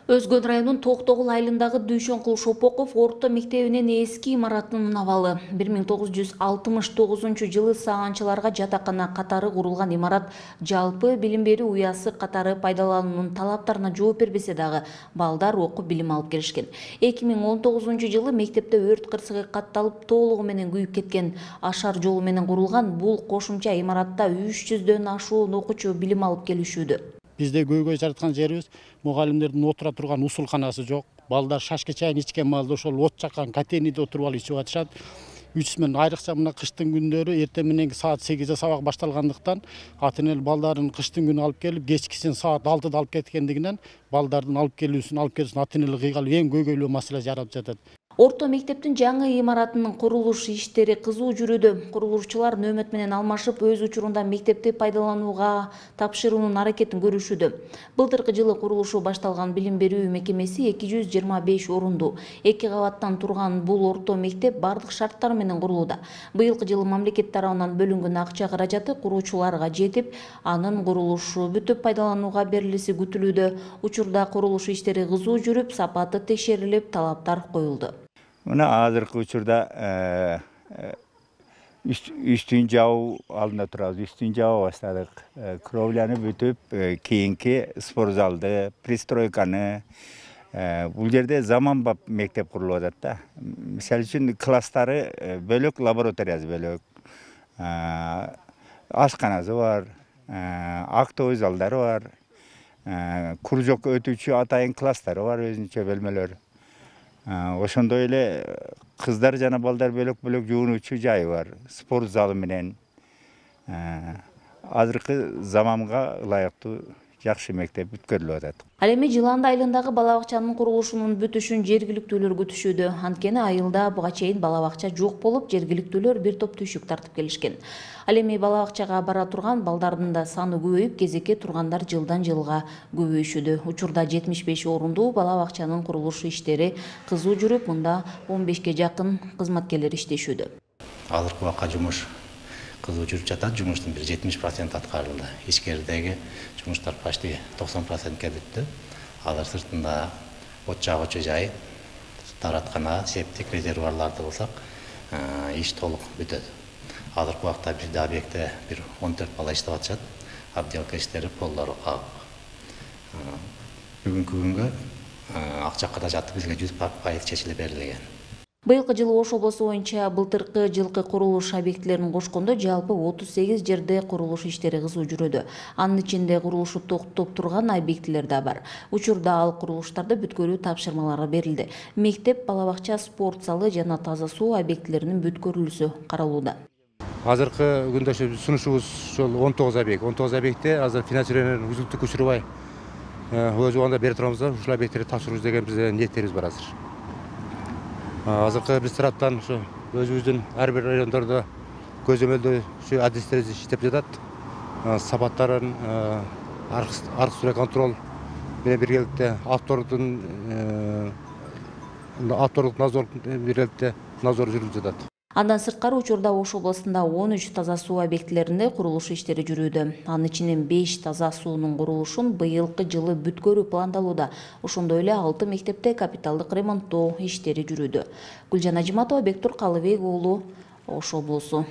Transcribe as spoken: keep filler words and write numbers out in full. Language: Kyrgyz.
Өзгөн районунун Токтогул айылындагы Дүйшөнкул Шопоков орто мектебинин эски имаратынын абалы. бир миң тогуз жүз алтымыш тогузунчу жылы саганчыларга жатакана катары курулган имарат жалпы билим берүү уясы катары пайдалануунун талаптарына жооп бербесе дагы балдар окуп билим алып келишкен. эки миң он тогузунчу жылы мектепте өрт кырсыгы катталып толугу менен күйүп кеткен. Ашар жолу менен курулган бул кошумча имаратта үч жүздөн ашуун окуучу билим алып келишүүдө. Бизде көйгөй жараткан жерибиз мугалимдердин отура турган усулканасы жок. Балдар шашка чайын ичкен маалда ошол от жаккан котельныйде отуруп алып ичип атышат. үч мен айрыкча мына кыштын күндөрү эртең мененки саат сегизде сабак башталгандыктан ата энелер балдарын кыштын күнү алып келип, кечкисин саат алтыда алып кеткендигинен балдардын алып келүүсүн, алып келүүсүн ата энелер кыйгалып эң көйгөйлүү маселе жаралып жатат. Орто мектептин жаңы имаратынын курулуш иштери кызуу жүрүүдө. Курулушчулар нөөмөт менен алмашып, өз учурунда мектепти пайдаланууга тапшыруунун аракетин көрүшүүдө. Былтыркы жылы курулушу башталган билим берүү мекемеси эки жүз жыйырма беш орунду. Эки кабаттан турган бул орто мектеп бардык шарттар менен курулууда. Быйылкы жылы мамлекет тарабынан бөлүнгөн акча каражаты куруучуларга жетип, анын курулушу бүтүп пайдаланууга берилиси күтүлүүдө. Учурда курулуш иштери кызуу жүрүп, сапаты текшерилип, талаптар коюлду. Мына азыркы учурда үстүн жабуу алдында турабыз. Үстүн жаба баштадык. Кровляны бүтүп, кийинки спортзалды, пристройканы, бул жерде заманбап мектеп курулуп атат да. Мисалы үчүн класстары бөлөк, лабораториясы бөлөк. Ашканасы бар, актовый залдары бар, кружок өтүүчү атайын класстары бар, өзүнчө бөлмөлөр. Ошондой эле кыздар жана балдар бөлөк-бөлөк жуунуучу жайы бар, спорт залы менен. Азыркы заманга ылайыктуу жакшы мектеп бүткөрүлүп атат. Ал эми Жыланды айылындагы бала бакчанын курулушунун бүтүшүн жергиликтүүлөр күтүшүүдө. Анткени айылда буга чейин бала бакча жок болуп, жергиликтүүлөр бир топ түйшүк тартып келишкен. Ал эми бала бакчага бара турган балдардын да саны көбөйүп, кезекке тургандар жылдан жылга көбөйүшүүдө. Учурда жетимиш беш орундуу бала бакчанын курулуш иштери кызуу жүрүп, мында он бешке жакын кызматкерлер иштешүүдө. Азыркы убакка жумуш кызуу жүрүп жатат. Жумуштун бир жетимиш проценти аткарылды. Ичкеридеги жумуштар почти токсон процентке бүттү. Алар сыртында от жагуучу жай, тараткана, септик резервуарларды кылсак, иш толук бүтөт. Азыркы убакта бизде объектте бир он төрт бала иштеп атышат. Отделка иштери полдору кагып. Бүгүнкү күнгө акча каражаты бизге жүз пайыз чечилип берилген. Быйылкы жылы Ош облусу боюнча былтыркы жылкы курулуш объектилерин кошкондо жалпы отуз сегиз жерде курулуш иштери кызуу жүрүүдө. Анын ичинде курулушу токтоп турган объектилер да бар. Учурда ал курулуштарды бүткөрүү тапшырмалары берилди. Мектеп, бала бакча, спорт залы жана таза суу объектилеринин бүткөрүлүүсү каралууда. Азыркы күндө сунушубуз ошол он тогуз объект. он тогуз объектте азыр финансирование үзүлтүккө учурбай өз убагында бере турабыз да, ушул объекттерди тапшырабыз деген бизде ниеттерибиз бар азыр. Азыркы биз тараптан ушу өзүбүздүн ар бир райондордо көзөмөлдөө ушу адистерибиз иштеп жатат. Сапаттарын аркы сүрө контроль менен биргеликте автордун автордук назор биргеликте назор жүрүп жатат. Андан сырткары учурда Ош областында он үч таза суу объектилеринде курулуш иштери жүрүүдө. Анын ичинен беш таза суунун курулушун быйылкы жылы бүткөрүү пландалууда. Ошондой эле алты мектепте капиталдык ремонттоо иштери жүрүүдө. Гүлжан Ажиматова, Бектур Калыбек уулу, Ош облусу.